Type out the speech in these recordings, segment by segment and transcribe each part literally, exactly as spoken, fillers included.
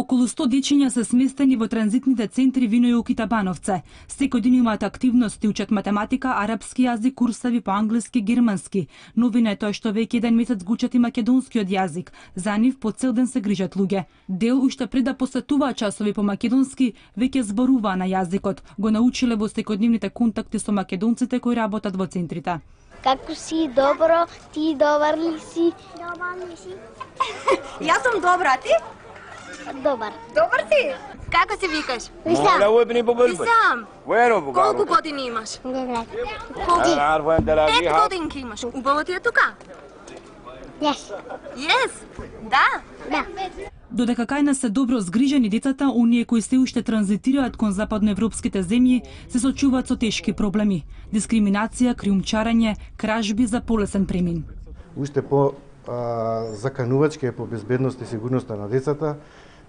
Околу сто дечиња се сместени во транзитните центри Винојук и Табановце. Секој ден имаат активности, учат математика, арапски јазик, курсави по англиски, германски. Новина е тоа што веќе еден месец го учат и македонскиот јазик. За нив по цел ден се грижат луѓе. Дел уште пред да посетуваат часови по македонски, веќе зборуваа на јазикот. Го научиле во секојдневните контакти со македонците кои работат во центрите. Како си? Добро? Ти добар ли си? Добар ли си? Јас сум добра, ти? Добар. Добар си? Како се викаш? Висам. Висам. Колку години имаш? Девет. Колку? Пет годинки имаш. Убаво ти е тука? Јес. Јес? Да? Да. Додека кај нас се добро згрижени децата, оние кои се уште транзитираат кон западноевропските земји, се сочуваат со тешки проблеми: дискриминација, криумчарење, кражби за полесен премин. Уште по а, заканувачки е по безбедност и сигурноста на децата,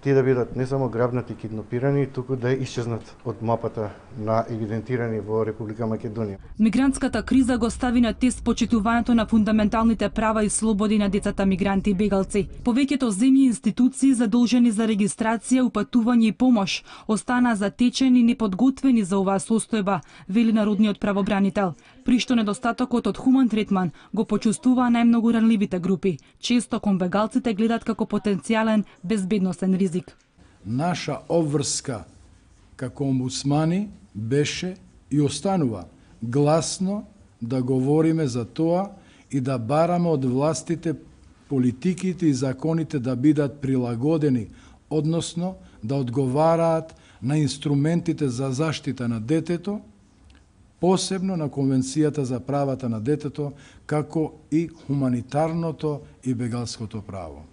тие да бидат не само грабнати, киднапирани, туку да исчезнат од мапата на евидентирани во Република Македонија. Мигрантската криза го стави на тест почитувањето на фундаменталните права и слободи на децата мигранти и бегалци. Повеќето земји и институции задолжени за регистрација, упатување и помош останаа затечени и неподготвени за оваа состојба, вели народниот правобранител, при што недостатокот од хуман третман го почувствуваа најмногу ранливите групи. Често кон бегалците гледат како потенцијален безбедносен ризик. Наша обврска како омбудсмани беше и останува гласно да говориме за тоа и да бараме од властите политиките и законите да бидат прилагодени, односно да одговараат на инструментите за заштита на детето, посебно на Конвенцијата за правата на детето, како и хуманитарното и бегалското право.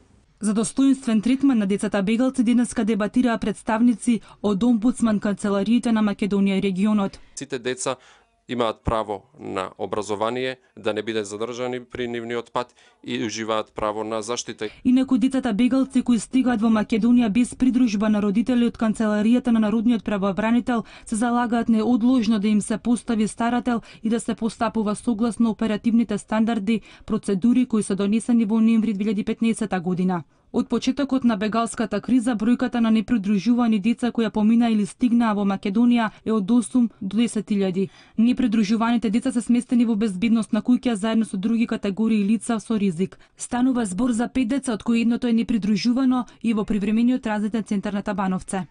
За достоинствен третман на децата бегалци денеска дебатираа представници од омбудсман канцелариите на Македонија и регионот. Сите деца имаат право на образование, да не бидат задржани при нивниот пат и уживаат право на заштита. Инаку децата бегалци кои стигаат во Македонија без придружба на родители од канцеларијата на народниот правобранител се залагаат неодложно да им се постави старател и да се постапува согласно оперативните стандарди, процедури кои се донесени во ноември две илјади и петнаесета година. Од почетокот на бегалската криза, бројката на непридружувани деца кои помина или стигнаа во Македонија е од осум до десет илјади. Непридружуваните деца се сместени во безбедностна куќа заедно со други категории лица со ризик. Станува збор за пет деца, од кои едното е непридружувано и во привремениот транзитен центар на Табановце.